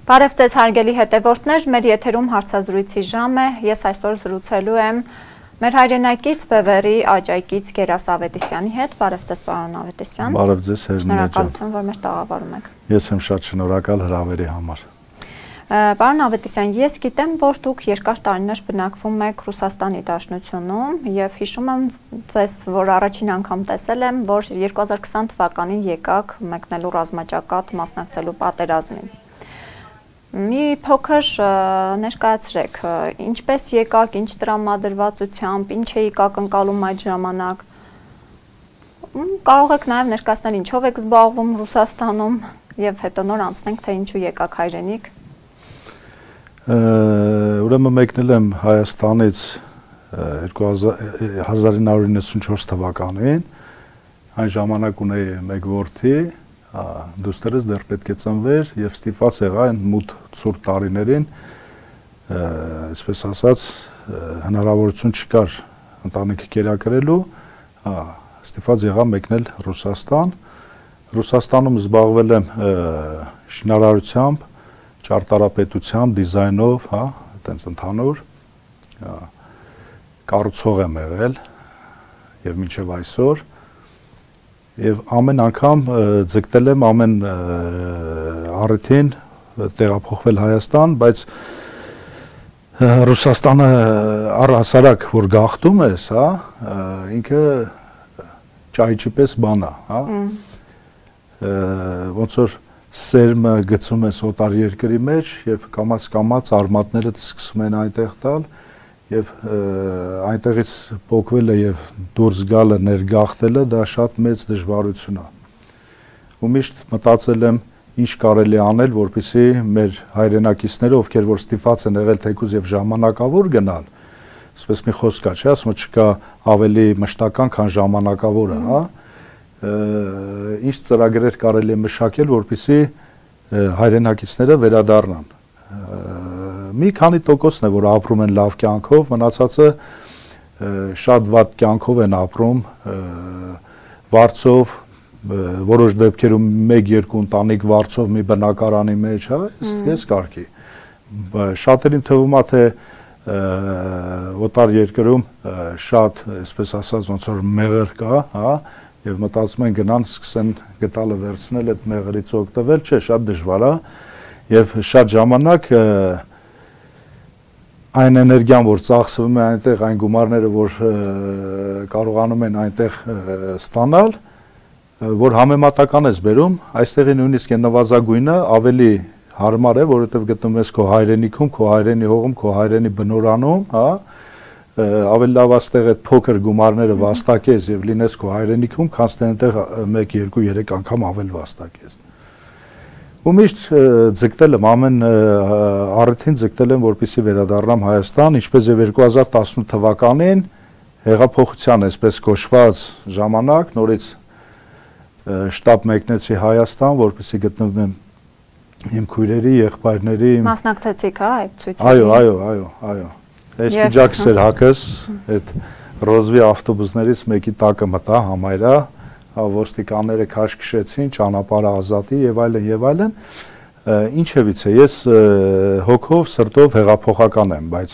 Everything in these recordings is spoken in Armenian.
Բարև ձեզ հարգելի հետևորդներ, մեր եթերում հարցազրույցի ժամ է, ես այսօր զրուցելու եմ մեր հայրենակից Բևեռի Աճայկից Գերաս Ավետիսյանի հետ, բարև ձեզ պարոն Ավետիսյան։ Բարև ձեզ Հերմինե ջան։ Շնորհակալություն, որ մեր տաղավարում եք։ Ես եմ շատ շնորհակալ հրավերի համար։ Պարոն Ավետիսյան, ես գիտեմ, որ դուք երկար տարիներ բնակվում եք Ռուսաստանի Դաշնությունում եւ հիշում եմ ձեզ, որ առաջին անգամ տեսել եմ, որ 2020 թվականին եկաք մեկնելու ռազմաճակատ մասնակցելու պատերազմին։ Մի փոքր ներկայացրեք, ինչպես եկաք, ինչ տրամադրվածությամբ, ինչ էիք ակնկալում այդ ժամանակ։ Կարող եք նաև ներկայացնել ինչով եք զբաղվում Ռուսաստանում եւ հետո նոր անցնենք, թե ինչու եկաք հայրենիք։ Ուրեմն մեկնել եմ Հայաստանից 1994 թվականին, այն ժամանակ ունեի մեկ որդի, դուստերս դեռ պետք է ծնվեր եւ ստիպված եղա այն մութ ցուրտ տարիներին, այսպես ասած, հնարավորություն չկար ընտանիքը կերակրելու, ստիպված եղա մեկնել Ռուսաստան։ Ռուսաստանում զբաղվել եմ շինարարությամբ, ճարտարապետությամբ, դիզայնով, այտենց ընդհանուր, կառուցող եմ եղել եւ մինչեւ այսօր եւ ամեն անգամ ձգտել եմ ամեն առիթին տեղափոխվել Հայաստան, բայց Ռուսաստանը առհասարակ որ գաղթում ես, ինքը ճայճի պես բան է, ոնց որ սերմը գցում ես օտար երկրի մեջ եւ կամաց արմատներդ սկսում են այնտեղ տալ եւ այնտեղից փոկվելը եւ դուրս գալը ներգաղթելը դա շատ մեծ դժվարություն է։ Ու միշտ մտածել եմ ինչ կարելի անել, որպեսզի մեր հայրենակիցները, ովքեր որ ստիպված են եղել թեկուզ եւ ժամանակավոր գնալ, այսպես մի խոսք կա, չէ՞, ասում չկա ավելի մշտական, քան ժամանակավորը, ինչ ծրագրեր կարելի է մշակել, որպեսզի հայրենակիցները վերադառնան։ Մի քանի տոկոսն է, որ ապրում են լավ կյանքով, մնացածը շատ վատ կյանքով են ապրում, վարձով, որոշ դեպքերում 1-2 ընտանիք վարձով մի բնակարանի մեջ, ես կարգի։ Շատերին թվում է, թե օտար երկրում շատ, այսպես ասած, ոնց որ մեղր կա, եւ մտածում են գնան սկսեն գտալը վերցնել, այդ մեղրից օգտվել, չէ, շատ դժվար է եւ շատ ժամանակ այն էներգիան, որ ծախսվում է այնտեղ, այն գումարները, որ կարողանում են այնտեղ ստանալ, որ համեմատական ես բերում, այստեղի նույնիսկ այն նվազագույնը ավելի հարմար է, որովհետեւ գտնում ես քո հայրենիքում, քո հայրենի հողում, քո հայրենի բնորանում, ավելի լավ աստեղ այդ փոքր գումարները վաստակես եւ լինես քո հայրենիքում, քան այնտեղ 1, 2, 3 անգամ ավել վաստակես։ Ու միշտ ձգտել եմ ամեն առիթին ձգտել եմ, որպեսզի վերադառնամ Հայաստան, ինչպես եւ 2018 թվականին հեղափոխության այսպես կոչված ժամանակ նորից շտաբ մեկնեցի Հայաստան, որպեսզի գտնվեմ իմ քույրերի, եղբայրների Մասնակցեցիք, այդ ցույցին։ Այո։ Այս միջակս էր հակս, այդ ռոզվի ավտոբուսներից մեկի տակը մտա համայրա, ոստիկանները քաշ քշեցին, ճանապարհը ազատի եւ այլն, ինչևից է, ես հոգով, սրտով հեղափոխական եմ, բայց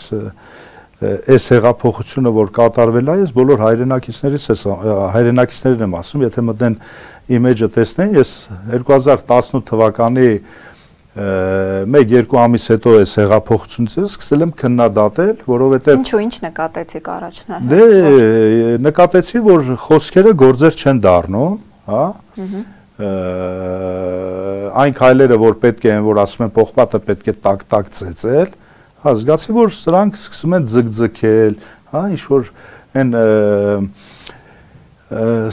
այս հեղափոխությունը, որ կատարվել է, ես բոլոր հայրենակիցներին եմ ասում, եթե մտնեն իմիջը տեսնեն, ես 2018 թվականի 1-2 ամիս հետո այս հեղափոխությունից սկսել եմ քննադատել, որովհետև ինչ նկատեցիք առաջնահերթ։ Դե նկատեցի, որ խոսքերը գործեր չեն դառնում, այն քայլերը, որ պետք են, որ ասում են պողպատը պետք է տակ ծեծել, զգացի, որ սրանք սկսում են ձգձգել, ինչ որ այն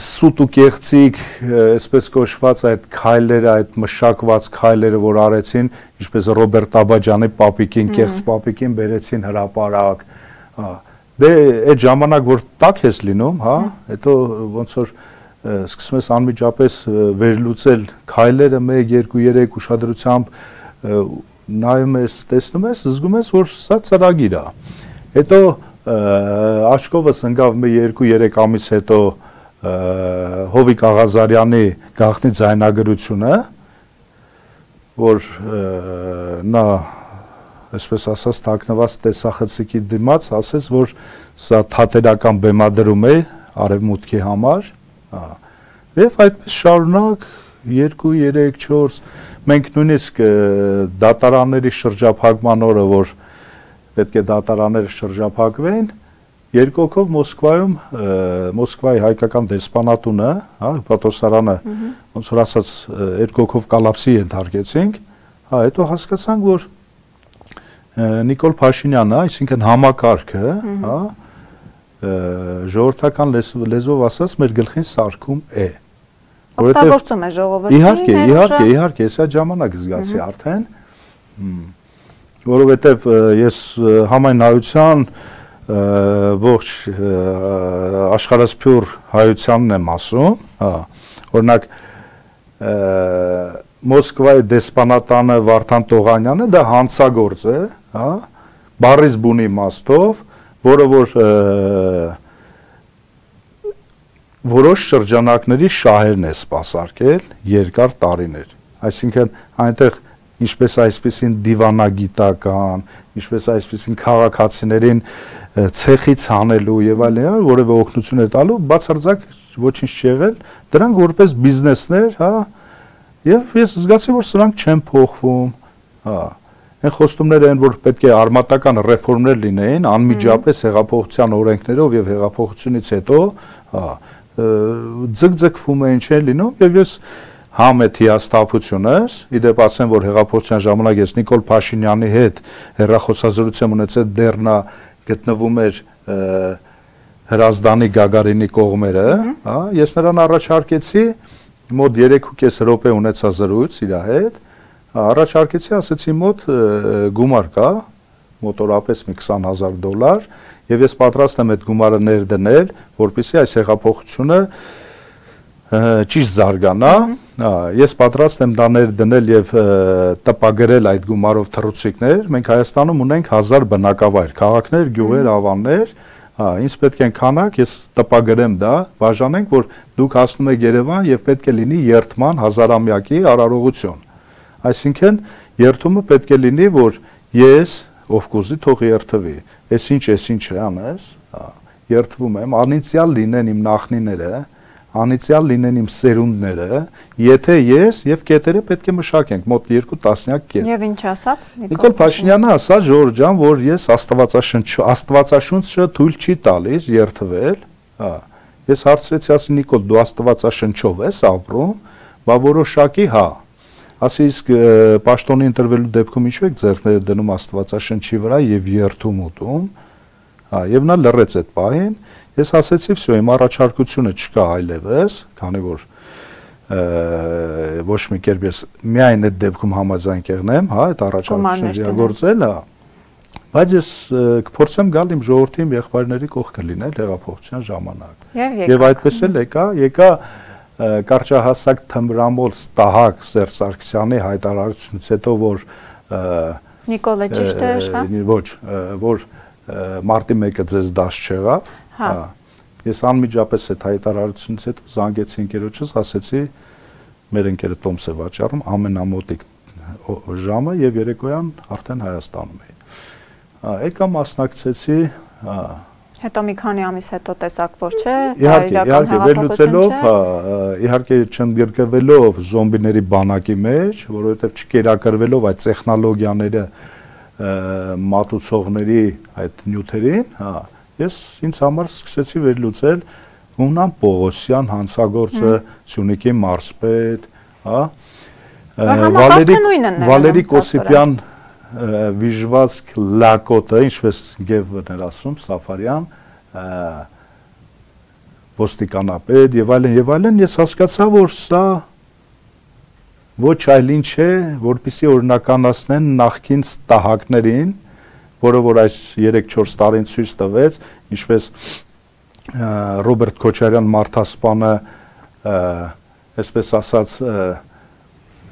սուտ ու կեղծիկ, այսպես կոչված այդ քայլերը, այդ մշակված քայլերը, որ արեցին, ինչպես Ռոբերտ Աբաջանի պապիկին, կեղծ պապիկին բերեցին հրապարակ, դե այդ ժամանակ, որ տակ ես լինում, հետո ոնց որ սկսում ես անմիջապես վերլուծել քայլերը 1, 2, 3 ուշադրությամբ նայում ես, տեսնում ես, զգում ես, որ սա ծրագիր է։ Հետո աչքովս ընկավ 2-3 ամիս հետո Հովիկ Աղազարյանի գաղտնի ձայնագրությունը, որ նա այսպես ասած թաքնված տեսախցիկի դիմաց ասեց, որ սա թատերական բեմադրում է արևմուտքի համար, եւ այդպես շարունակ 2, 3, 4 մենք նույնիսկ դատարանների շրջափակման օրը, որ պետք է դատարանները շրջափակվեն, երկու հոգով Մոսկվայի հայկական դեսպանատունը, Պատոսարանը, ոնց որ ասած, երկու հոգով կալապսի ենթարկեցինք, հետո հասկացանք, որ Նիկոլ Փաշինյանը, այսինքն համակարգը, ժողովրդական լեզվով ասած, մեր գլխին սարքում է։ Օգտագործում է ժողովրդին։ Իհարկե, ես այդ ժամանակ զգացի արդեն, որովհետև ես համայնայության ողջ աշխարհասփյուր հայությանն եմ ասում, օրինակ Մոսկվայի դեսպանատանը Վարդան Տողանյանը դա հանցագործ է, բառից բունի իմաստով, որը որ որոշ շրջանակների շահերն է սպասարկել երկար տարիներ, այսինքն այնտեղ ինչպես այսպեսին դիվանագիտական, ինչպես այսպեսին քաղաքացիներին ցեխից հանելու եւ այլն, որևէ օգնություն է տալու, բացարձակ ոչինչ չի եղել, դրանք որպես բիզնեսներ, եւ ես զգացի, որ սրանք չեն փոխվում, այն խոստումները են, որ պետք է արմատական ռեֆորմներ լինեին, անմիջապես հեղափոխության օրենքներով եւ հեղափոխությունից հետո, ձգձգվում էին չեն լինում, եւ ես համ այդ հիասթափությունս, իդեպ ասեմ, որ հեղափոխության ժամանակ ես Նիկոլ Փաշինյանի հետ հեռախոսազրույց ունեցել, դեռ նա գտնվում էր Հրազդանի Գագարինի կողմերը, ես նրան առաջարկեցի մոտ 3.5 րոպե ունեցա զրույց իր հետ, առաջարկեցի, ասեցի մոտ գումար կա, մոտորապես մի $20,000, եւ ես պատրաստ եմ այդ գումարը ներդնել, որպեսզի այս հեղափոխությունը ճիշտ զարգանա, ես պատրաստ եմ դա ներդնել եւ տպագրել այդ գումարով թռուցիկներ, մենք Հայաստանում ունենք 1000 բնակավայր, քաղաքներ, գյուղեր, ավաններ, ինձ պետք են քանակ, ես տպագրեմ դա, բաժանենք, որ դուք հասնում եք Երևան եւ պետք է լինի երթման 1000-ամյակի արարողություն։ Այսինքն երթումը պետք է լինի, որ ես, ով կուզի, թող երթվի։ Էս ինչ է անես, երթվում եմ, անիցիալ լինեն իմ նախնիները, անիցիալ լինեն իմ սերունդները, եթե ես եւ կետերը պետք է մշակենք մոտ 2 տասնյակ կետ։ Եվ ինչ ասաց Նիկոլ Փաշինյանը ասաց, Ժորժ ջան, որ ես աստվածաշունչը թույլ չի տալիս երթվել, Ես հարցրեցի, ասի Նիկոլ, դու աստվածաշնչով ես ապրում, բա որոշակի հա։ Ասի իսկ պաշտոնի ընտրվելու դեպքում ինչու եք ձեռքները դնում աստվածաշնչի վրա եւ երթում ուտում։ Եվ նա լռեց այդ պահին, ես ասեցի, վсё, իմ առաջարկությունը չկա այլևս, քանի որ ոչ մի կերպ ես միայն այդ դեպքում համաձայն կեղնեմ, հա, այդ առաջարկությունը իրագործել, հա։ Բայց ես կփորձեմ գալ իմ ժողովրդի իմ եղբայրների կողքը լինել հեղափոխության ժամանակ։ Եվ այդպես էլ եկա կարճահասակ թմրամոլ ստահակ Սերժ Սարգսյանի հայտարարությունից հետո, որ Նիկոլը ճիշտ է, հա։ Ոչ, որ մարտի 1-ը ձեզ դաշ չեղավ, հա։ Ես անմիջապես այդ հայտարարությունից հետո զանգեցի ընկերոջս, ասեցի մեր ընկերը Տոմս է վաճառում ամենամոտիկ ժամը եւ երեկոյան արդեն Հայաստանում էի։ Եկա մասնակցեցի, հետո մի քանի ամիս հետո տեսակ, որ չէ, իհարկե վերլուծելով, իհարկե չընդգրկվելով զոմբիների բանակի մեջ, որովհետև չկերակրվելով այդ տեխնոլոգիաները մատուցողների այդ նյութերին, ես ինձ համար սկսեցի վերլուծել Հունան Պողոսյան հանցագործը, Սյունիքի մարզպետ, Վալերի Կոսիպյան վիժվածք լակոտը, ինչպես Գևն էր ասում, Սաֆարյան, ոստիկանապետ եւ այլն, ես հասկացա, որ սա ոչ այլ ինչ է, որպեսզի օրինականացնեն նախկին ստահակներին, որը որ այս 3-4 տարին ցույց տվեց, ինչպես Ռոբերտ Քոչարյան մարդասպանը, այսպես ասած,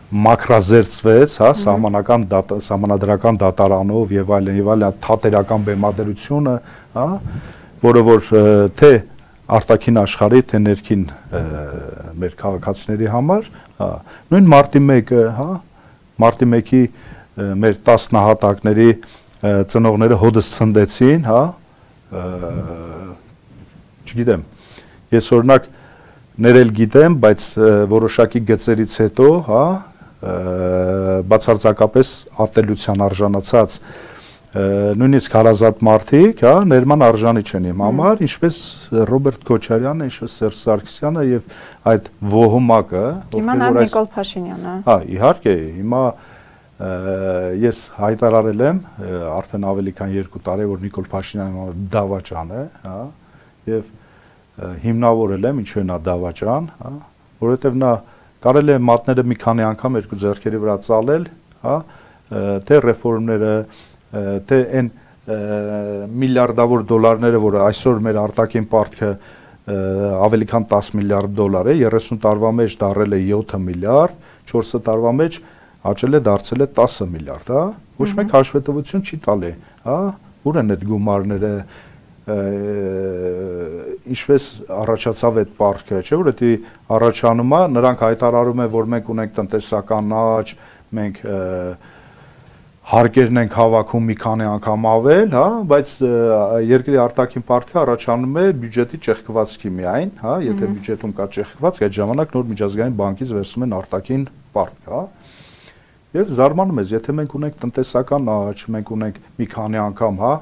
մակրազերծվեց, հա, սահմանադրական դատարանով եւ այլն, թատերական բեմադրությունը, հա, որը որ թե արտաքին աշխարհի, թե ներքին մեր քաղաքացիների համար, հա, նույն մարտի 1-ը, հա, մարտի 1-ի մեր 10 նահատակների ծնողները հոդս ցնդեցին, հա, չգիտեմ, ես օրինակ ներել գիտեմ, բայց որոշակի գծերից հետո, հա, բացարձակապես ատելության արժանացած նույնիսկ հարազատ մարդիկ, հա, ներման արժանի չեն իմ համար, ինչպես Ռոբերտ Քոչարյանը, ինչպես Սերժ Սարգսյանը եւ այդ ոհմակը, Հիմա նաեւ Նիկոլ Փաշինյանը։ Հա, իհարկե, հիմա ես հայտարարել եմ արդեն ավելի քան 2 տարի, որ Նիկոլ Փաշինյանը դավաճան է, հա, եւ հիմնավորել եմ ինչու է նա դավաճան, հա, որովհետեւ նա կարելի է մատները մի քանի անգամ երկու ձեռքերի վրա ծալել, հա, թե ռեֆորմները, թե այն միլիարդավոր դոլարները, որը այսօր մեր արտաքին պարտքը ավելի քան 10 միլիարդ դոլար է, 30 տարվա մեջ դարել է 7 միլիարդ, 4 տարվա մեջ աճել է դարձել է 10 միլիարդ, հա, ոչ մեկ հաշվետվություն չի տալի, հա, ուր են այդ գումարները, ինչպես առաջացավ այդ պարտքը, չէ՞ որ դա առաջանում է, նրանք հայտարարում են, որ մենք ունենք տնտեսական աճ, մենք հարկերն ենք հավաքում մի քանի անգամ ավել, հա, բայց երկրի արտաքին պարտքը առաջանում է բյուջետի ճեղքվածքի միայն, հա, եթե բյուջետում կա ճեղքվածք, այդ ժամանակ նոր միջազգային բանկից վերցնում են արտաքին պարտք, հա։ Եվ զարմանում ես, եթե մենք ունենք տնտեսական աճ, մենք ունենք մի քանի անգամ, հա,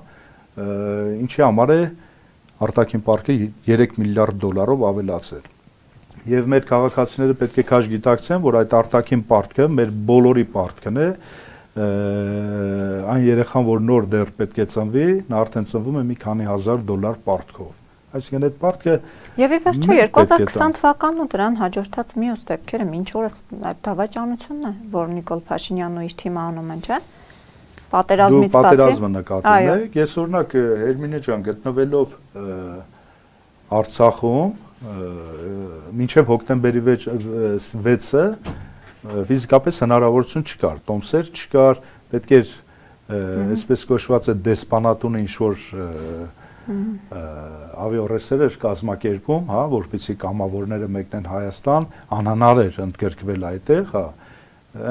ինչի համար է արտաքին պարտքը 3 միլիարդ դոլարով ավելացել։ Եվ մեր քաղաքացիները պետք է քաշ գիտակցեն, որ այդ արտաքին պարտքը մեր բոլորի պարտքն է, այն երեխան, որ նոր դեռ պետք է ծնվի, նա արդեն ծնվում է մի քանի հազար դոլար պարտքով։ Այսինքն այդ պարտքը Եվ ի վերջո 2020 թվականն ու դրան հաջորդած մյուս դեպքերը մինչ օրս այդ դավաճանությունն է, որ Նիկոլ Փաշինյանն ու իր թիմը անում են, չէ՞։ Պատերազմից բացի։ Պատերազմը նկատում եք, ես օրինակ Հերմինե ջան գտնվելով Արցախում մինչև հոկտեմբերի 6-ը ֆիզիկապես հնարավորություն չկար, տոմսեր չկար, պետք էր այսպես կոչված է դեսպանատունը ինչ-որ ավիառեսեր էր կազմակերպում, հա, որպեսզի կամավորները մեկնեն Հայաստան, անհնար էր ընդգրկվել այդտեղ, հա,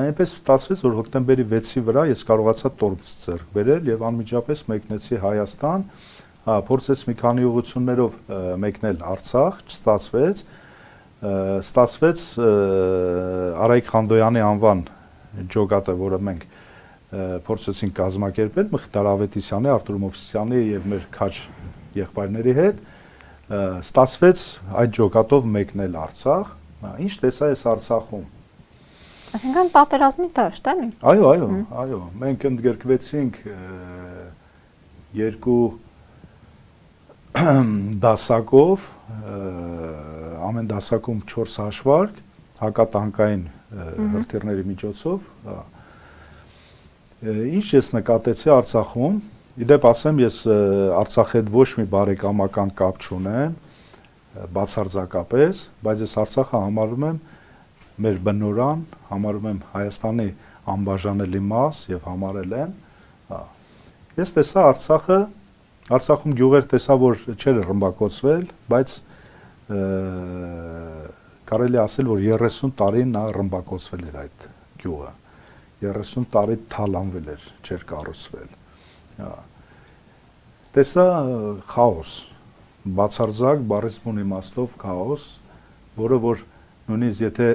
այնպես ստացվեց, որ հոկտեմբերի 6-ի վրա ես կարողացա տոմս ձեռք բերել եւ անմիջապես մեկնեցի Հայաստան, հա, փորձեց մի քանի ուղղություններով մեկնել Արցախ, չստացվեց, ստացվեց Արայիկ Խանդոյանի անվան ջոկատը, որը մենք փորձեցինք կազմակերպել Մխիթար Ավետիսյանի, Արտուր Մովսիսյանի եւ մեր քաչ եղբայրների հետ, ստացվեց այդ ջոկատով մեկնել Արցախ, ինչ տեսա ես Արցախում։ Այսինքն պատերազմի դաշտ էլի։ Այո, մենք ընդգրկվեցինք երկու դասակով, ամեն դասակում 4 հաշվարկ, հակատանկային հրթիռների միջոցով, ինչ ես նկատեցի Արցախում, իդեպ ասեմ, ես Արցախի հետ ոչ մի բարեկամական կապ չունեմ, բացարձակապես, բայց ես Արցախը համարում եմ մեր բնորան, համարում եմ Հայաստանի անբաժանելի մաս եւ համարել եմ, ես տեսա Արցախում գյուղեր տեսա, որ չէր ռմբակոծվել, բայց կարելի ասել, որ 30 տարի նա ռմբակոծվել էր այդ գյուղը, 30 տարի թալանվել էր, չէր կառուցվել, տեսա խաոս, բացարձակ բառից բուն իմաստով խաոս, որը որ նույնիսկ եթե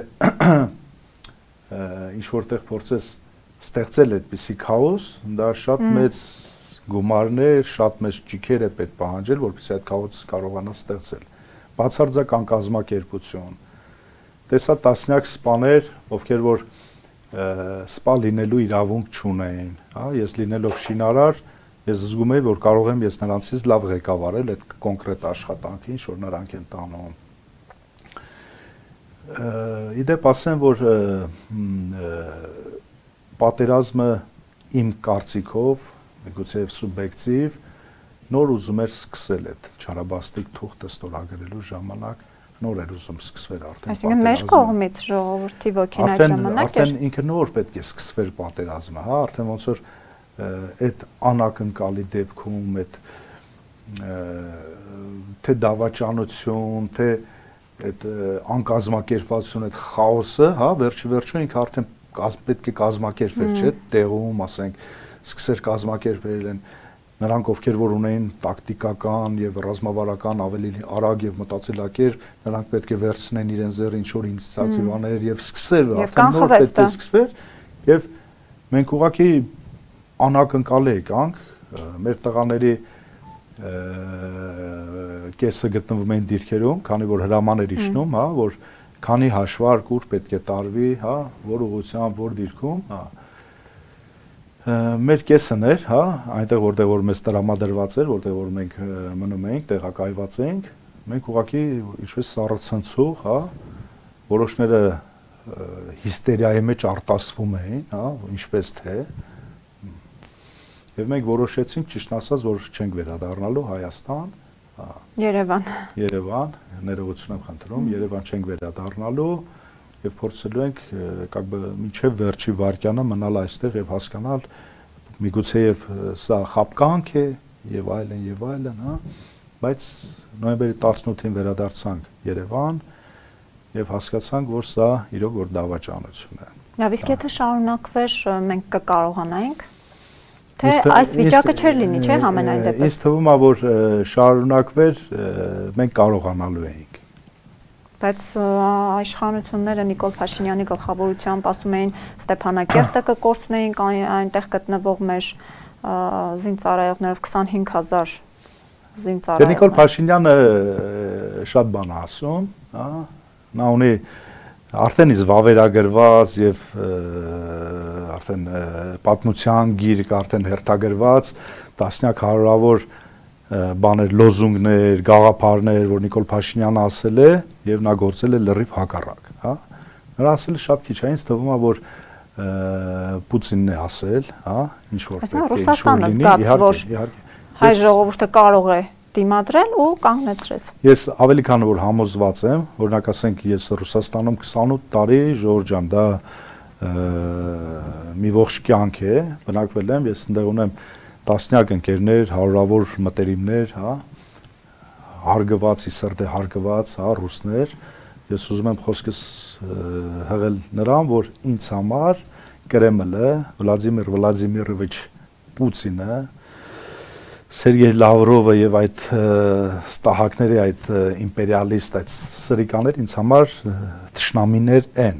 ինչ որտեղ փորձես ստեղծել այդպիսի քաոս, դա շատ մեծ գումարներ, շատ մեծ ճիքեր է պետք պահանջել, որպեսզի այդ քաոսը կարողանա ստեղծել։ Բացարձակ կազմակերպություն։ Տեսա տասնյակ սպաներ, ովքեր որ սպա լինելու իրավունք չունեին, հա, ես լինելով շինարար, ես զգում եի, որ կարող եմ ես նրանցից լավ ղեկավարել այդ կոնկրետ աշխատանքը, ինչ որ նրանք են տանում։ Իդեպ ասեմ, որ պատերազմը իմ կարծիքով, միգուցե սուբյեկտիվ, նոր ուզում էր սկսել այդ չարաբաստիկ թուղթը ստորագրելու ժամանակ, նոր էր ուզում սկսվել արդեն։ Այսինքն մեր կողմից ժողովրդի ոգին այդ ժամանակ էր։ Արդեն ինքը նոր պետք է սկսվեր պատերազմը, հա, արդեն ոնց որ այդ անակնկալի դեպքում այդ թե դավաճանություն, թե այդ անկազմակերպվածություն, այդ խաոսը, հա, վերջը ինքը արդեն պետք է կազմակերպել, չէ՞, տեղում, ասենք, սկսեր կազմակերպել են նրանք, ովքեր որ ունեին տակտիկական եւ ռազմավարական ավելի արագ եւ մտածելակերպ, նրանք պետք է վերցնեն իրեն ձեռ ինչ-որ ինիցիատիվաներ եւ սկսել, արդեն նոր պետք է սկսվեր եւ մենք ուղղակի անակնկալ եկանք, մեր տղաների կեսը գտնվում էին դիրքերում, քանի որ հրաման էր իջնում, հա, որ քանի հաշվարկ ուր պետք է տարվի, հա, որ ուղղությամբ, որ դիրքում, հա, մեր կեսն էր, հա, այնտեղ որտեղ որ մեզ տրամադրված էր, որտեղ որ մենք մնում էինք, տեղակայված էինք, մենք ուղղակի ինչպես սառցնցող, հա, որոշները հիստերիայի մեջ արտասվում էին, հա, ինչպես թե, եւ մենք որոշեցինք, ճիշտ ասած, որ չենք վերադառնալու Հայաստան, Երևան, ներողություն եմ խնդրում, Երևան չենք վերադառնալու եւ փորձելու ենք մինչեւ վերջի վարկյանը մնալ այստեղ եւ հասկանալ միգուցե եւ սա խապկանք է եւ այլն, հա, բայց նոյեմբերի 18-ին վերադարձանք Երևան եւ հասկացանք, որ սա իրոք որ դավաճանություն է։ Լավ, իսկ եթե շարունակվեր, մենք կկարողանայինք թե այս վիճակը չէր լինի, չէ՞, համենայն դեպս։ Ինձ թվում է, որ շարունակվեր, մենք կարողանալու էինք։ Բայց իշխանությունները Նիկոլ Փաշինյանի գլխավորությամբ ասում էին Ստեփանակերտը կկորցնեինք, այնտեղ գտնվող մեր զինծառայողներով 25000 զինծառայող։ Դե Նիկոլ Փաշինյանը շատ բան է ասում, հա, նա ունի արդեն իսկ վավերագրված եւ արդեն պատմության գիրք արդեն հերթագրված տասնյակ հարյուրավոր բաներ, լոզունգներ, գաղափարներ, որ Նիկոլ Փաշինյանը ասել է եւ նա գործել է լրիվ հակառակ, հա։ Նրա ասելը շատ քիչ է, ինձ թվում է, որ Պուտինն է ասել, հա, ինչ որ պետք է Ռուսաստանը զգաց, որ հայ ժողովուրդը կարող է դիմադրել ու կանգնեցրեց։ Ես ավելի քան որ համոզված եմ, օրինակ ասենք ես Ռուսաստանում 28 տարի, Ժորժ ջան, դա մի ողջ կյանք է, բնակվել եմ, ես այնտեղ ունեմ տասնյակ ընկերներ, հարյուրավոր մտերիմներ, հա, հարգվածի սրտե հարգված, հա, ռուսներ, ես ուզում եմ խոսքս հղել նրան, որ ինձ համար Կրեմլը, Վլադիմիր Վլադիմիրովիչ Պուտինը, Սերգեյ Լավրովը եւ այդ ստահակների այդ իմպերիալիստ այդ սրիկաներ ինձ համար թշնամիներ են։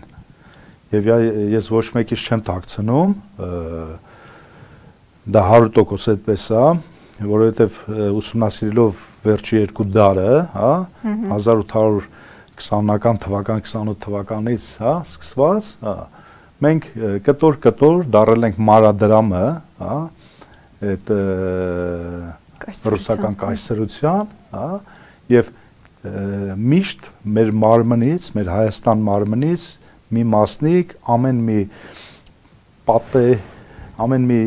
Եվ ես ոչ մեկից չեմ թաքցնում, դա 100% այդպես է, որովհետեւ ուսումնասիրելով վերջի երկու դարը, հա, 1820-ական թվական, 28 թվականից, հա, սկսված, հա, մենք կտոր դարել ենք մանրադրամը, հա, այդ ռուսական կայսրության, հա, եւ միշտ մեր մարմնից, մեր Հայաստան մարմնից մի մասնիկ ամեն մի պատե, ամեն մի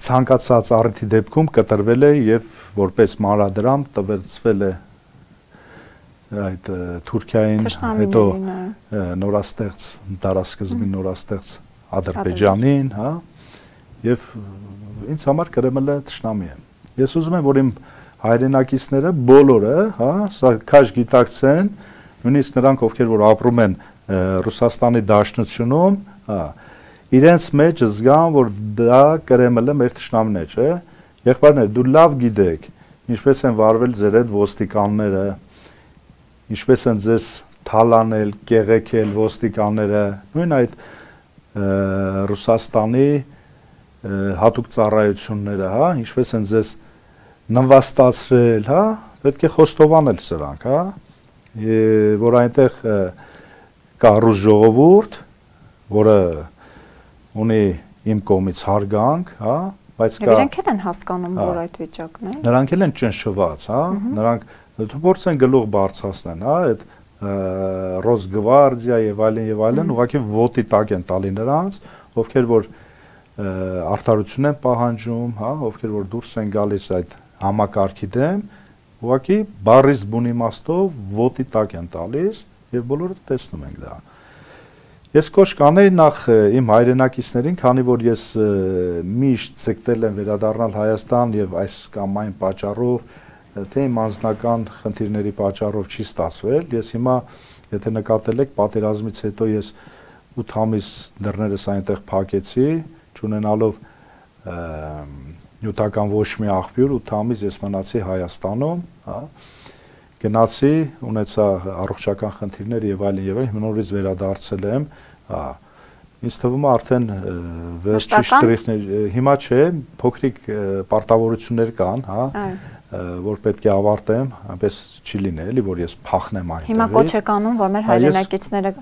ցանկացած առիթի դեպքում կտրվել է եւ որպես մանրադրամ տվեցվել է այդ Թուրքիային, հետո նորաստեղծ դարաշրջանի նորաստեղծ Ադրբեջանին, հա, եւ ինձ համար Կրեմլը թշնամի է։ Ես ուզում եմ, որ իմ հայրենակիցները բոլորը, հա, սա քաշ գիտակցեն, նույնիսկ նրանք, ովքեր որ ապրում են Ռուսաստանի Դաշնությունում, հա, իրենց մեջ զգան, որ դա Կրեմլը մեր թշնամին է, չէ՞։ Եղբայրներ, դու լավ գիտեք, ինչպես են վարվել ձեր այդ ոստիկանները, ինչպես են ձեզ թալանել, կեղեքել ոստիկանները, նույն այդ Ռուսաստանի հատուկ ծառայությունները, հա, ինչպես են ձեզ նվաստացրել, հա, պետք է խոստովանել սրանք, հա, որ այնտեղ կա ռուս ժողովուրդ, որը ունի իմ կողմից հարգանք, հա, բայց կա Նրանք են հասկանում, որ այդ վիճակն է։ Նրանք են ճնշված, հա, նրանք փորձեն գլուխ բարձրացնեն, հա, այդ Ռոսգվարդիա եւ այլն, ուղղակի ոտի տակ են տալի նրանց, ովքեր որ արդարություն են պահանջում, հա, ովքեր որ դուրս են գալիս այդ համակարգի դեմ, ուղղակի բառից բուն իմաստով ոտի տակ են տալիս եւ բոլորը տեսնում են դա։ Ես կոչ կանեի նախ իմ հայրենակիցներին, քանի որ ես միշտ ցկտել եմ վերադառնալ Հայաստան եւ այս կամ այն պատճառով, թե իմ անձնական խնդիրների պատճառով չի ստացվել, ես հիմա, եթե նկատել եք, պատերազմից հետո ես 8 ամիս դռներս այնտեղ փակեցի, չունենալով նյութական ոչ մի աղբյուր, 8 ամիս ես մնացի Հայաստանում, հա, գնացի, ունեցա առողջական խնդիրներ եւ այլն, նորից վերադարձել եմ, հա, ինձ թվում է արդեն վերջի շտրիխներ, հիմա չէ, փոքրիկ պարտավորություններ կան, հա, որ պետք է ավարտեմ, այնպես չի լինի, էլի, որ ես փախնեմ այնտեղից։ Հիմա կոչ եք անում, որ մեր հայրենակիցները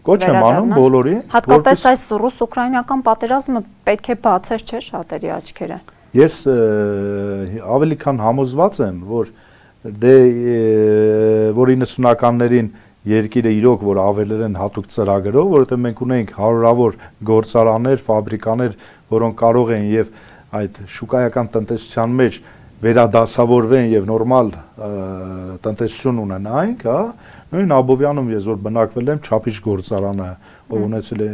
կոչ եմ անում բոլորին։ Հատկապես այս ռուս-ուկրաինական պատերազմը պետք է բացեր, չէ՞, շատերի աչքերը։ Ես ավելի քան համոզված եմ, որ դե որ 90-ականներին երկիրը իրոք որ ավելել են հատուկ ծրագրով, որովհետև մենք ունենք հարյուրավոր գործարաններ, ֆաբրիկաներ, որոնք կարող են եւ այդ շուկայական տնտեսության մեջ վերադասավորվեն եւ նորմալ տնտեսություն ունենայինք, հա, նույն Աբովյանում ես որ բնակվել եմ, Չափիչ գործարանը, ով ունեցել է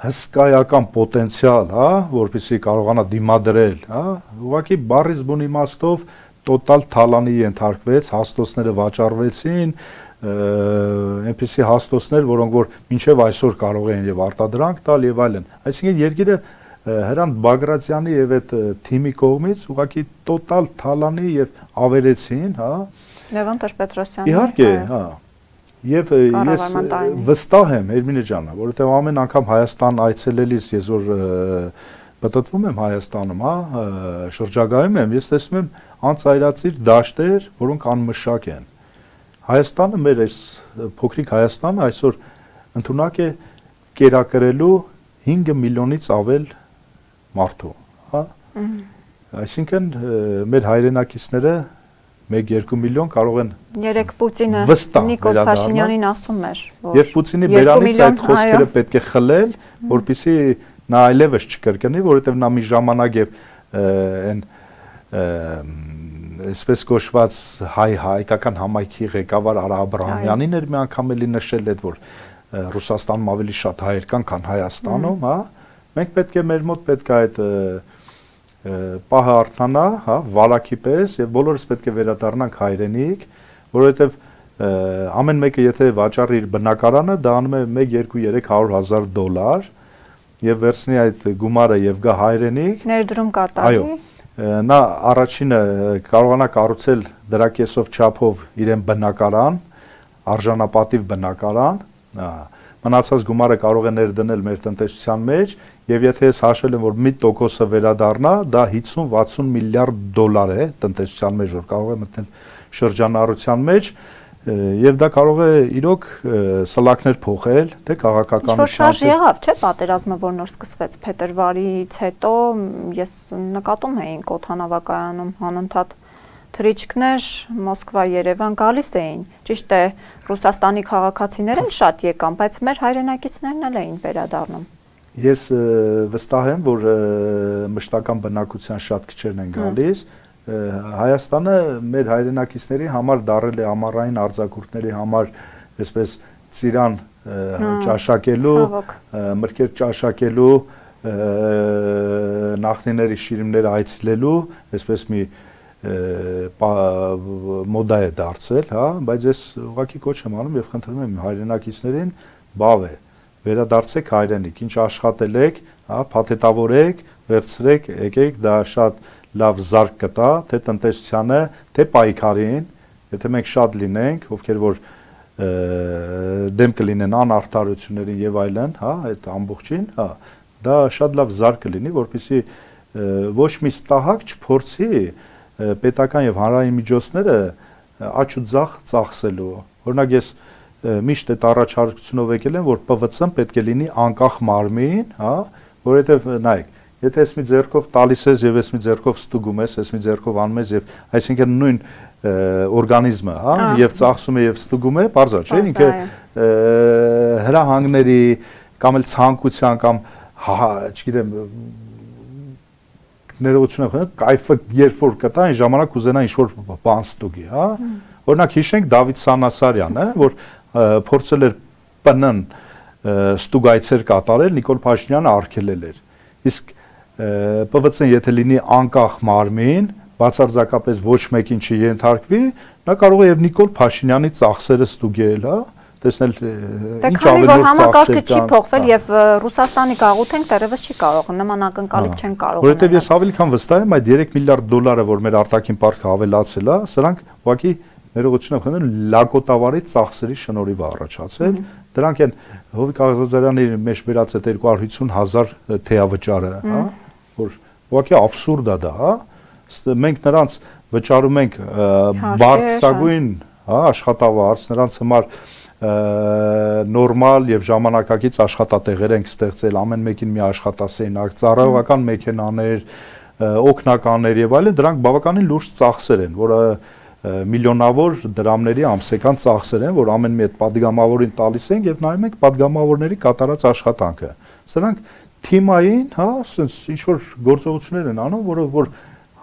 հսկայական պոտենցիալ, հա, որպեսզի կարողանա դիմադրել, հա, ուղղակի բառից բուն իմաստով տոտալ թալանի ենթարկվեց, հաստոցները վաճառվեցին, այնպիսի հաստոցներ, որոնք որ մինչև այսօր կարող են եւ արտադրանք տալ եւ այլն։ Այսինքն երկիրը Հրանտ Բագրատյանի եւ այդ թիմի կողմից ուղղակի տոտալ թալանի եւ ավերեցին, հա։ Լևոն Տեր-Պետրոսյանը։ Իհարկե, հա։ Եվ ես վստահ եմ Էրմինե ջան, որովհետեւ ամեն անգամ Հայաստան այցելելիս ես որ պատտվում եմ Հայաստանում, հա, շրջագայում եմ, ես տեսնում եմ անծայրածիր դաշտեր, որոնք անմշակ են։ Հայաստանը մեր այս փոքրիկ Հայաստանը այսօր ընդունակ է կերակրելու 5 միլիոնից ավել մարդու, հա։ Այսինքն մեր հայրենակիցները 1-2 միլիոն կարող են երեք Պուտինը Նիկոլ Փաշինյանին ասում էր, որ եւ Պուտինի բերանից այդ խոսքերը պետք է խլել, որպեսզի նա այլևս չկրկնի, որովհետեւ նա մի ժամանակ եւ այն այսպես կոչված հայկական համայնքի ղեկավար Արա Աբրահամյանին էր մի անգամ էլի նշել այդ որ Ռուսաստանում ավելի շատ հայեր կան, քան Հայաստանում, հա։ Մենք պետք է մեր մոտ պետք է այդ պահը արթնանա, հա, վարակի պես եւ բոլորս պետք է վերադառնանք հայրենիք, որովհետեւ ամեն մեկը եթե վաճառի իր բնակարանը, դա անում է 1-2-300 $100 եւ վերցնի այդ գումարը եւ գա հայրենիք, ներդրում կատարի։ Այո։ Նա առաջինը կարողանա կառուցել դրա կեսով չափով իրեն բնակարան, արժանապատիվ բնակարան, մնացած գումարը կարող է ներդնել մեր տնտեսության մեջ եւ եթե ես հաշվել եմ որ 1%-ը վերադառնա, դա 50-60 միլիարդ $, է տնտեսության մեջ, որ կարող է մտնել շրջանառության մեջ եւ դա կարող է իրոք սլակներ փոխել, թե քաղաքական ինչ-որ շարժ եղավ, չէ՞, պատերազմը որ նոր սկսվեց փետրվարից հետո, ես նկատում էինք օդանավակայանում անընդհատ թռիչքներ Մոսկվա, Երևան գալիս էին։ Ճիշտ է, Ռուսաստանի քաղաքացիներն շատ եկան, բայց մեր հայրենակիցներն էլ էին վերադառնում։ Ես վստահ եմ, որ մշտական բնակության շատ քչերն են գալիս։ Հայաստանը մեր հայրենակիցների համար դարել է ամառային արձակուրդների համար, այսպես ծիրան ճաշակելու, մրգեր ճաշակելու, նախնիների շիրիմները այցելելու, այսպես մի մոդա է դարձել, հա, բայց ես ուղղակի կոչ եմ անում եւ խնդրում եմ հայրենակիցներին բավ է, վերադարձեք հայրենիք, ինչ աշխատել եք, հա, փաթեթավորեք, վերցրեք, եկեք, դա շատ լավ զարգ կտա, թե տնտեսությանը, թե պայքարին, եթե մենք շատ լինենք, ովքեր որ դեմ կլինեն անարդարություններին եւ այլն, հա, այդ ամբողջին, հա, դա շատ լավ զարգ կլինի, որպեսզի ոչ մի ստահակ չփորձի պետական եւ հանրային միջոցները աճ ու ձախ ծախսելու։ Օրինակ ես միշտ այդ առաջարկությունով եկել եմ, որ ՊՎՑ-ն պետք է լինի անկախ մարմին, հա, որովհետեւ նայեք, եթե ես մի ձեռքով տալիս ես եւ ես մի ձեռքով ստուգում ես, ես մի ձեռքով անում ես եւ այսինքն նույն օրգանիզմը, հա, եւ ծախսում է եւ ստուգում է, բարձր չէ, ինքը հրահանգների կամ էլ ցանկության կամ չգիտեմ ներողություն եմ, կայֆը երբ որ կտա, այն ժամանակ կուզենա ինչ-որ բան ստուգի, հա։ Օրինակ հիշենք Դավիթ Սանասարյանը, որ փորձել էր ՊՆ-ն ստուգայցեր կատարել, Նիկոլ Փաշինյանը արգելել էր։ Իսկ ՊՎՑ-ն եթե լինի անկախ մարմին, բացարձակապես ոչ մեկին չի ենթարկվի, նա կարող է եւ Նիկոլ Փաշինյանի ծախսերը ստուգել, հա։ տեսնել ինչ ավելի որ համակարգը չի փոխվել եւ Ռուսաստանի գաղութենք դեռևս չի կարող նման ակնկալիք չեն կարող որովհետեւ ես ավելի քան վստահ եմ այդ 3 միլիարդ դոլարը որ մեր արտաքին պարտքը ավելացել է սրանք ուղղակի ներողություն եմ խնդրում լակոտավարի ծախսերի շնորհիվ է առաջացել դրանք են Հովիկ Աղազարյանի մեջ վերած այդ 250,000 թեավճարը հա որ ուղղակի աբսուրդ է դա հա մենք նրանց վճարում ենք բարձրագույն հա աշխատավարձ նրանց համար նորմալ եւ ժամանակակից աշխատատեղեր ենք ստեղծել ամեն մեկին մի աշխատասենյակ ծառայողական մեքենաներ օգնականներ եւ այլն դրանք բավականին լուրջ ծախսեր են որը միլիոնավոր դրամների ամսական ծախսեր են որ ամեն մի այդ падգամավորին տալիս ենք եւ նայում ենք падգամավորների կատարած աշխատանքը սրանք թիմային հա ասես ինչ որ գործողություններ են անում որը որ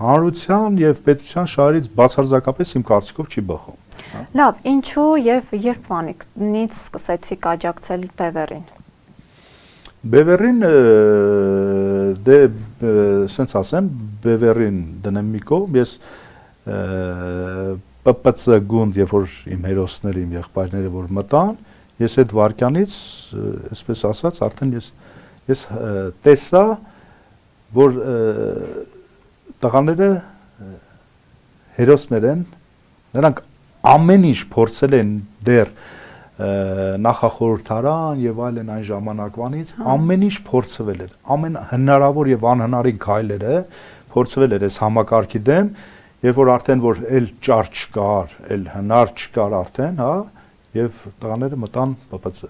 հանրության եւ պետության շահերից բացարձակապես իմ կարծիքով չի բխում Լավ, ինչու եւ երբ վանիկնից սկսեցիք աջակցել Բևերին։ Բևերին դե սենց ասեմ, Բևերին դնեմ մի կողմ, ես ՊՊՑ գունդ, երբ որ իմ հերոսները, իմ եղբայրները որ մտան, ես այդ վարքյանից, այսպես ասած, արդեն ես տեսա, որ տղաները հերոսներ են, նրանք ամեն ինչ փորձել են դեռ նախախորհրդարան եւ այլն այն ժամանակվանից ամեն ինչ փորձվել էր ամեն հնարավոր եւ անհնարին քայլերը փորձվել էր այս համակարգի դեմ երբ որ արդեն որ էլ ճար չկար էլ հնար չկար արդեն հա եւ տղաները մտան ՊՊՑ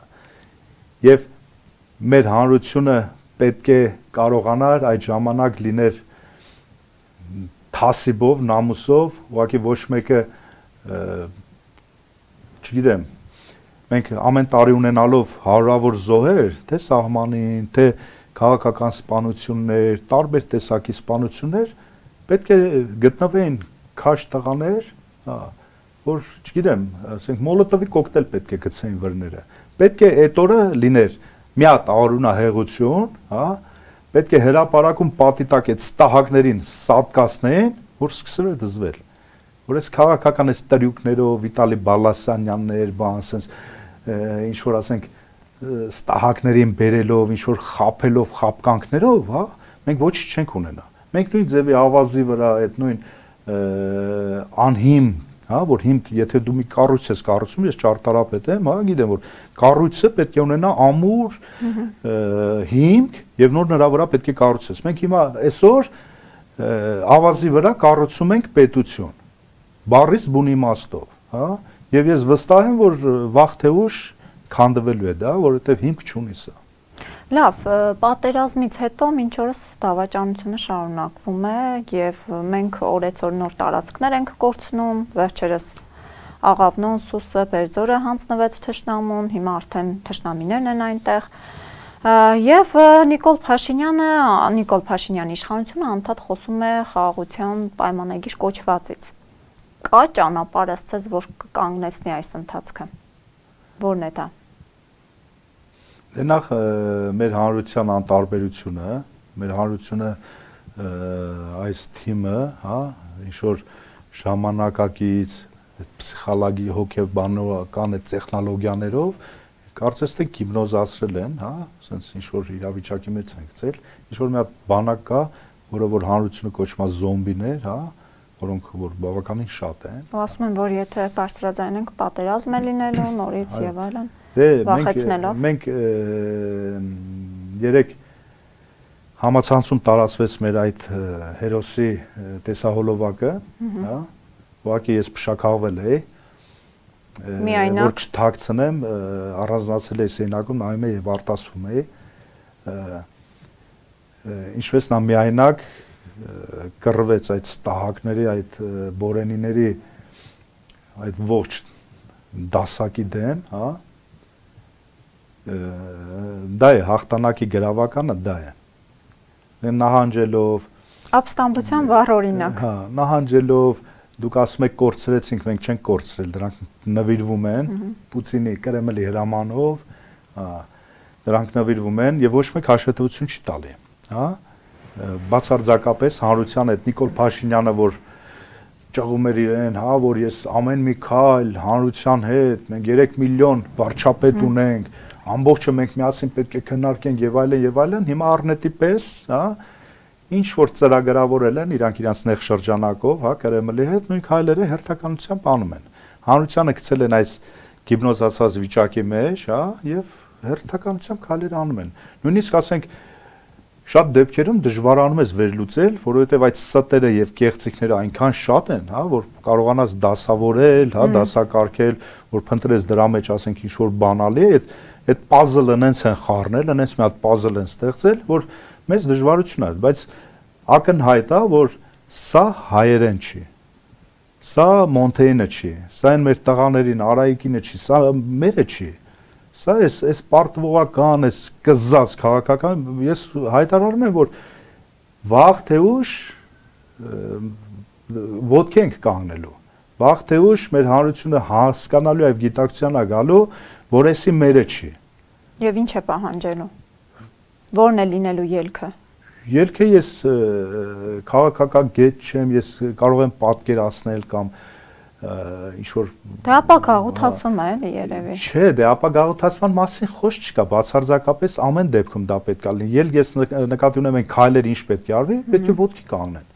եւ մեր հանրությունը պետք է կարողանար այդ ժամանակ լիներ թասիբով նամուսով ուղղակի ոչ մեկը չգիտեմ մենք ամեն տարի ունենալով հարյուրավոր զոհեր թե սահմանին թե քաղաքական սպանություններ տարբեր տեսակի սպանություններ պետք է գտնվեին քաշ տղաներ որ չգիտեմ ասենք մոլոտովի կոկտեյլ պետք է գցեին վրները պետք է այդ օրը լիներ մի հատ արունահեղություն հա պետք է հրապարակում պատի տակ այդ ստահակներին սատկացնեն որ սկսել է դզվել որ այս քաղաքական այս տրյուկներով Վիտալի Բալասանյաններ, բան ասենց ինչ որ ասենք ստահակներին բերելով, ինչ որ խափելով, խապկանքներով, հա, մենք ոչինչ չենք ունենա։ Մենք նույն ձևի ավազի վրա այդ նույն անհիմ, հա, որ հիմք, եթե դու մի կառույց ես կառուցում, ես ճարտարապետ եմ, հա, գիտեմ որ կառույցը պետք է ունենա ամուր հիմք եւ նոր նրա վրա պետք է կառուցես։ Մենք հիմա այսօր ավազի վրա կառուցում ենք պետություն բառից բուն իմաստով, հա, եւ ես վստահ եմ, որ վաղ թե ուշ քանդվելու է դա, որովհետեւ հիմք չունի սա։ Լավ, պատերազմից հետո մինչ օրս դավաճանությունը շարունակվում է եւ մենք օրեցօր նոր տարածքներ ենք կորցնում, վերջերս Աղավնոն, Սուսը, Բերձորը հանձնվեց թշնամուն, հիմա արդեն թշնամիներն են այնտեղ։ Եվ Նիկոլ Փաշինյանի իշխանությունը անդադ խոսում է խաղաղության պայմանագիր կոչվածից։ Կա ճանապարհ ասես, որ կկանգնեցնի այս ընթացքը։ Որն է դա։ Նախ մեր հանրության անտարբերությունը, մեր հանրությունը այս թիմը, հա, ինչ որ ժամանակակից պսիխոլոգի հոգեբանական այդ տեխնոլոգիաներով կարծես թե գիպնոզացրել են, հա, ասենց ինչ որ իրավիճակի մեջ են գցել, ինչ որ մի հատ բանակ կա, որը որ հանրությունը կոչվում է զոմբիներ, հա, որոնք որ բավականին շատ են։ Ասում են, որ եթե բարձրաձայնենք պատերազմ է լինելու, նորից եւ այլն։ Մենք երեք համացանցում տարածվեց մեր այդ հերոսի տեսահոլովակը, հա, ուղղակի ես փշաքաղվել էի, որ չթաքցնեմ, առանձնացել էի սենյակում, նայում էի եւ արտասվում էի, ինչպես նա միայնակ կռվեց այդ ստահակների, այդ բորենիների այդ ողջ դասակի դեմ, հա, դա է հաղթանակի գրավականը, դա է նահանջելով ապստամբության վառ օրինակ, հա, նահանջելով դուք ասում եք կորցրեցինք, մենք չենք կորցրել, դրանք նվիրվում են Պուտինի Կրեմլի հրամանով, հա, դրանք նվիրվում են եւ ոչ մեկ հաշվետվություն չի տալի, հա, բացարձակապես հանրության այդ Նիկոլ Փաշինյանը, որ ճղում էր իրեն, հա, որ ես ամեն մի քայլ հանրության հետ, մենք 3 միլիոն վարչապետ ունենք, ամբողջը մենք միասին պետք է քննարկենք եւ այլն, հիմա առնետի պես, հա, ինչ որ ծրագրավորել են իրանք իրանց նեղ շրջանակով, հա, Կրեմլի հետ, նույն քայլերը հերթականությամբ անում են։ Հանրությանը գցել են այս գիպնոզացված վիճակի մեջ, հա, եւ հերթականությամբ քայլեր անում են։ Նույնիսկ ասենք շատ դեպքերում դժվարանում է վերլուծել, որովհետև այդ ստերը եւ կեղծիքները այնքան շատ են, հա, որ կարողանաս դասավորել, հա, դասակարգել, որ փնտրես դրա մեջ, ասենք, ինչ որ բանալի է, այդ puzzle-ը նենց են խառնել, նենց մի հատ puzzle են ստեղծել, որ մեծ դժվարություն է, բայց ակնհայտ է, որ սա հայերեն չի։ Սա Մոնթեյնը չի, սա այն մեր տղաներին, Արայիկինը չի, սա մերը չի։ Սա էս պարտվողական, էս կզած քաղաքական, ես հայտարարում եմ, որ վաղ թե ուշ ոտքի ենք կանգնելու, վաղ թե ուշ մեր հանրությունը հասկանալու եւ գիտակցության է գալու, որ էսի մերը չի։ Եվ ինչ է պահանջելու։ Ո՞րն է լինելու ելքը։ Ելքը ես քաղաքական գետ չեմ, ես կարող եմ պատկերացնել կամ ինչ որ Դա ապա գաղութացում է, էլի երևի։ Չէ, դե ապա գաղութացման մասին խոսք չկա, բացարձակապես ամեն դեպքում դա պետք է լինի։ Ես նկատի ունեմ այն քայլերը ինչ պետք է արվի, պետք է ոտքի կանգնեն։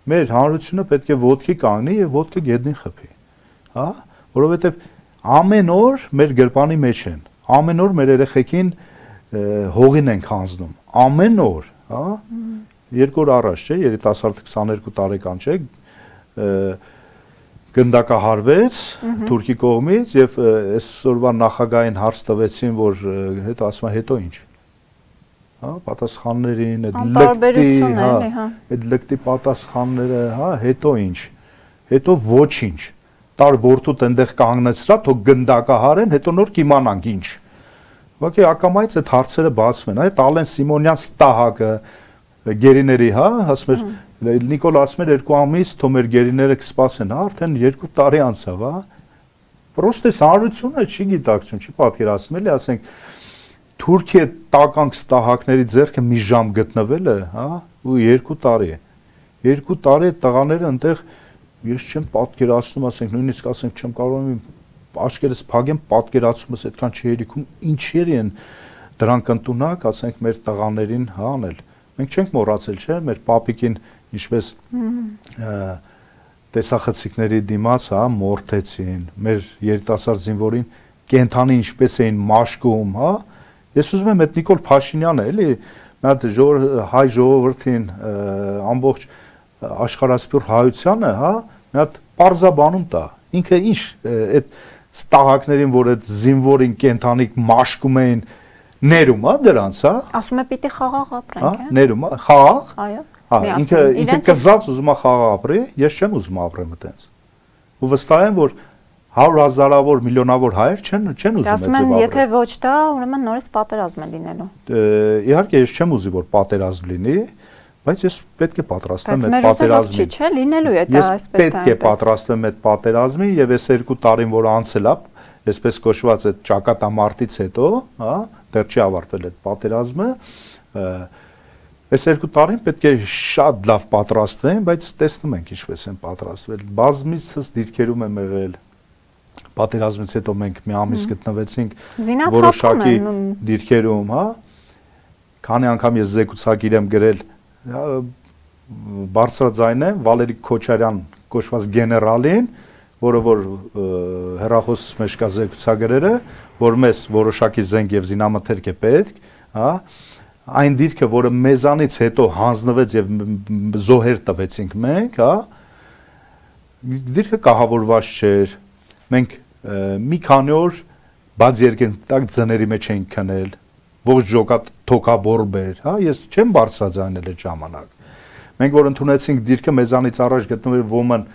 Մեր հանրությունը պետք է ոտքի կանգնի եւ ոտքը գետնին խփի։ Հա, որովհետեւ ամեն օր մեր գրպանի մեջ են։ Ամեն օր մեր երեխեքին հողին ենք հանձնում։ Ամեն օր, հա։ 2 օր առաջ, չէ, երիտասարդ 22 տարեկան, չէ, գնդակահարվեց Թուրքի կողմից եւ այսօրվա նախագահային հարց տվեցին, որ հետո ասում է հետո ինչ։ Հա, պատասխաններին, այդ լկտի պատասխանները, հա, հետո ինչ։ Հետո ոչինչ։ Տար որդուտ այնտեղ կանգնեցրա, թող գնդակահարեն, հետո նոր կիմանանք ինչ։ Ուղղակի ակամայից այդ հարցերը բացվում են, այդ Ալեն Սիմոնյան ստահակը գերիների, հա, ասում էր Նիկոլ ասում էր 2 ամիս թող մեր գերիները կսպասեն, հա, արդեն 2 տարի անցավ, հա։ Պրոստե հանրությունը չի գիտակցում, չի պատկերացնում, էլի, ասենք Թուրքիա տականք ստահակների ձեռքը մի ժամ գտնվելը, հա, ու 2 տարի է։ 2 տարի տղաները այնտեղ ես չեմ պատկերացնում, ասենք նույնիսկ ասենք չեմ կարողանում աչքերս փակեմ, պատկերացումս այդքան չհերիքում ինչեր են դրանք ընդունակ, ասենք մեր տղաներին հա անել։ Մենք չենք մոռացել, չէ՞, մեր պապիկին ինչպես տեսախցիկների դիմաց, հա, մորթեցին, մեր երիտասարդ զինվորին կենթանի ինչպես էին մաշկում, հա։ Ես ուզում եմ այդ Նիկոլ Փաշինյանը, էլի, մի հատ հայ ժողովրդին ամբողջ աշխարհասփյուռ հայությանը, հա, մի հատ պարզաբանում տա։ Ինքը ինչ այդ ստահակներին, որ այդ զինվորին կենթանիկ մաշկում էին, ներում, հա, դրանց, հա։ Ասում է պիտի խաղաղ ապրենք, հա։ Ներում, խաղաղ։ Այո։ Հա, ինքը կզած ուզում է խաղաղ ապրի, ես չեմ ուզում ապրեմ այդպես։ Ու վստահ եմ, որ 100,000-ավոր, միլիոնավոր հայեր չեն ուզում այդպես ապրել։ Եթե ոչ դա, ուրեմն նորից պատերազմ է լինելու։ Իհարկե, ես չեմ ուզի, որ պատերազմ լինի, բայց ես պետք է պատրաստվեմ այդ պատերազմին։ Չի, չէ, լինելու է դա այսպես դա։ Ես պետք է պատրաստվեմ այդ պատերազմին եւ այս 2 տարին, որ անցել է, այսպես կոչված այդ ճակատամարտից հետո, հա, դեռ չի ավարտվել այդ պատերազմը, այս 2 տարին պետք է շատ լավ պատրաստվեն, բայց տեսնում ենք ինչպես են պատրաստվել։ Բազմիցս դիրքերում եմ եղել։ Պատերազմից հետո մենք մի ամիս գտնվեցինք որոշակի դիրքերում, հա։ Քանի անգամ ես զեկուցակիր եմ գրել, բարձրաձայն եմ Վալերի Քոչարյան կոչված գեներալին, որը որ հեռախոսից մեջ կա զեկուցագրերը, որ մեզ որոշակի զենք եւ զինամթերք է պետք, հա։ Այն դիրքը, որը մեզանից հետո հանձնվեց եւ զոհեր տվեցինք մենք, հա, դիրքը կահավորված չէր։ Մենք մի քանի օր բաց երկնտակ ձների մեջ էինք քնել, ողջ ջոկատ թոքաբորբեր, հա, ես չեմ բարձրաձայնել այդ ժամանակ։ Մենք որ ընդունեցինք դիրքը, մեզանից առաջ գտնվել ոմն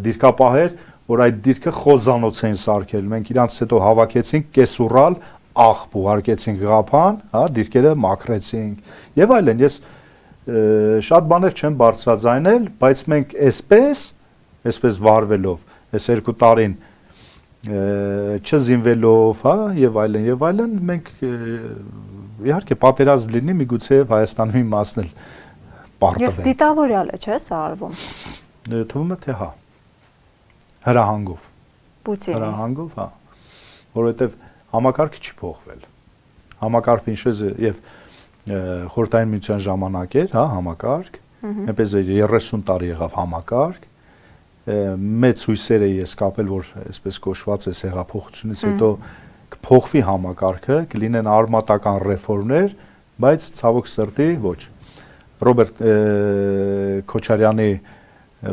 դիրքապահեր, որ այդ դիրքը խոզանոց էին սարքել։ Մենք իրանց հետո հավաքեցինք կեսուրալ աղբ ուղարկեցինք Ղափան, հա, դիրքերը մաքրեցինք եւ այլն։ Ես շատ բաներ չեմ բարձրաձայնել, բայց մենք այսպես վարվելով, այս 2 տարին չզինվելով, հա, եւ այլն, մենք իհարկե պատերազմ լինի, միգուցե Հայաստանի մի մասն էլ պարտվի։ Եվ դիտավորյալ է, չէ՞, սա արվում։ Թվում է թե հա։ Հրահանգով։ Պուտինի։ Հրահանգով, հա։ Որովհետև համակարգը չի փոխվել։ Համակարգը ինչպես եւ Խորհրդային Միության ժամանակ էր, հա, համակարգ, այնպես 30 տարի եղավ համակարգ, մեծ հույսեր էի ես կապել, որ այսպես կոչված է հեղափոխությունից հետո կփոխվի համակարգը, կլինեն արմատական ռեֆորմներ, բայց ցավոք սրտի ոչ։ Ռոբերտ Քոչարյանի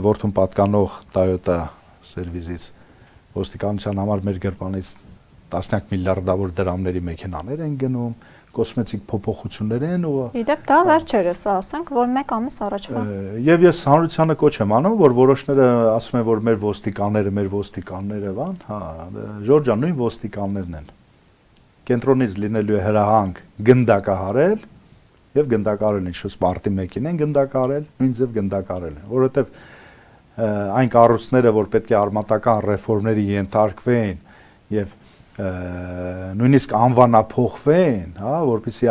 որդուն պատկանող Toyota սերվիզից ոստիկանության համար մեր գրպանից տասնյակ միլիարդավոր դրամների մեքենաներ են գնում, կոսմետիկ փոփոխություններ են ու Իդեպ դա վերջերս, ասենք, որ 1 ամիս առաջվա։ Եվ ես հանրությանը կոչ եմ անում, որ որոշները ասում են, որ մեր ոստիկանները, բան, հա, Ժորժ ջան, նույն ոստիկաններն են։ Կենտրոնից լինելու է հրահանգ գնդակահարել եւ գնդակարել ինչ-որ սպարտի մեկին են գնդակարել, նույն ձև գնդակարել են, որովհետեւ այն կառույցները, որ պետք է արմատական ռեֆորմների ենթարկվեն եւ նույնիսկ անվանափոխվեն, հա, որպեսզի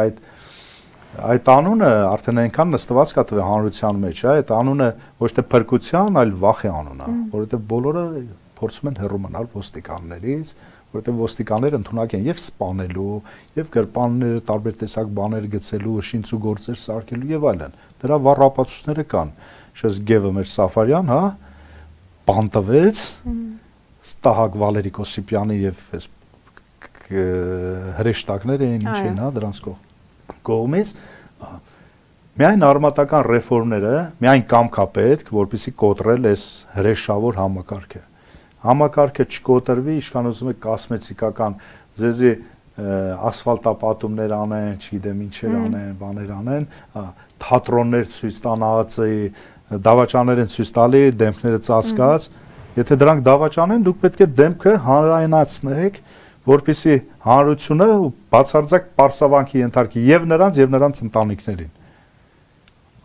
այդ անունը արդեն այնքան նստված կա տվե հանրության մեջ, հա, այդ անունը ոչ թե փրկության, այլ վախի անուն է, որովհետեւ բոլորը փորձում են հեռու մնալ ոստիկաններից, որովհետեւ ոստիկանները ընդունակ են եւ սպանելու, եւ գրպանները տարբեր տեսակ բաներ գցելու, շինծու գործեր սարքելու եւ այլն։ Դրա վառ ապացույցները կան։ Շես Գևը մեր Սաֆարյան, հա, բանտվեց Ստահակ Վալերի Կոսիպյանի եւ այս հրեշտակներ էին ինչ են, հա, դրանց կողմից միայն արմատական ռեֆորմները, միայն կամք է պետք, որպեսզի կոտրել այս հրեշավոր համակարգը։ Համակարգը չկոտրվի, ինչքան ուզում եք կոսմետիկական ձեզի ասֆալտապատումներ անեն, չգիտեմ ինչեր անեն, բաներ անեն, թատրոններ ցույց տան ԱԱՑ-ի, դավաճաններ են ցույց տալի, դեմքները ծածկած, եթե դրանք դավաճան են, դուք պետք է դեմքը հանրայնացնեք, որպեսզի հանրությունը բացարձակ պարսավանքի ենթարկի եւ նրանց ընտանիքներին։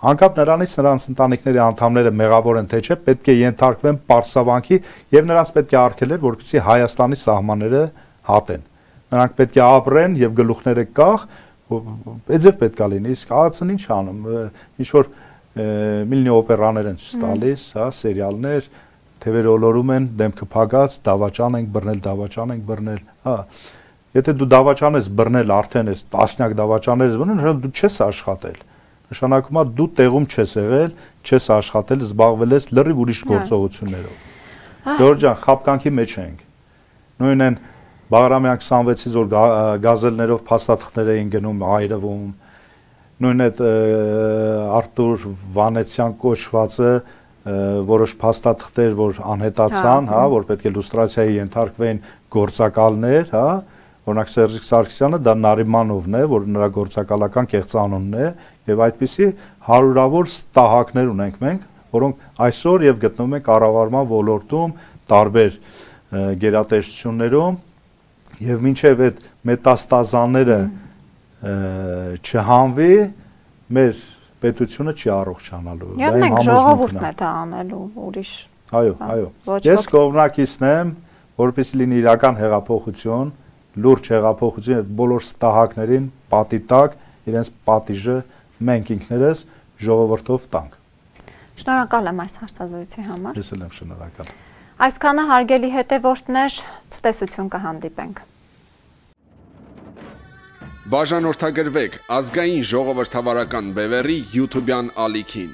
Անկապ նրանից նրանց ընտանիքների անդամները մեղավոր են թե չէ, պետք է ենթարկվեն պարսավանքի եւ նրանց պետք է արգելել, որպեսզի Հայաստանի սահմանները հատեն։ Նրանք պետք է ապրեն եւ գլուխները կախ, այդ ձև պետք է լինի, իսկ ԱԱՑ-ն ինչ անում, ինչ որ միլիոնի օպերաներ են ցույց տալիս, հա, սերիալներ, թևերը ոլորում են, դեմքը փակած, դավաճան ենք բռնել, հա։ Եթե դու դավաճան ես բռնել, արդեն ես տասնյակ դավաճաններ ես բռնել, դու չես աշխատել։ Նշանակում է դու տեղում չես եղել, չես աշխատել, զբաղվել ես լրիվ ուրիշ գործողություններով։ Ժորժ ջան, խապկանքի մեջ ենք։ Նույնն են Բաղրամյան 26-ից որ գազելներով փաստաթղթեր էին գնում, այրվում։ Նույն այդ Արտուր Վանեցյան կոչվածը որոշ փաստաթղթեր, որ անհետացան, հա, որ պետք է լուստրացիայի ենթարկվեն գործակալներ, հա, օրինակ Սերժիկ Սարգսյանը դա Նարիմանովն է, որ նրա գործակալական կեղծանունն է, եւ այդպիսի հարյուրավոր ստահակներ ունենք մենք, որոնք այսօր եւ գտնվում են կառավարման ոլորտում, տարբեր գերատեսչություններում, եւ մինչեւ այդ մետաստազաները չհանվի, մեր պետությունը չի առողջանալու։ Եվ մենք ժողովուրդն է դա անելու, ուրիշ։ Այո։ Ես կողմնակիցն եմ, որպեսզի լինի իրական հեղափոխություն, լուրջ հեղափոխություն եւ բոլոր ստահակներին պատի տակ իրենց պատիժը մենք ինքներս ժողովրդով տանք։ Շնորհակալ եմ այս հարցազրույցի համար։ Ես էլ եմ շնորհակալ։ Այսքանը հարգելի հետևորդներ, ցտեսություն կհանդիպենք։ Բաժանորդագրվեք ազգային ժողովրդավարական բևեռի YouTube-յան ալիքին։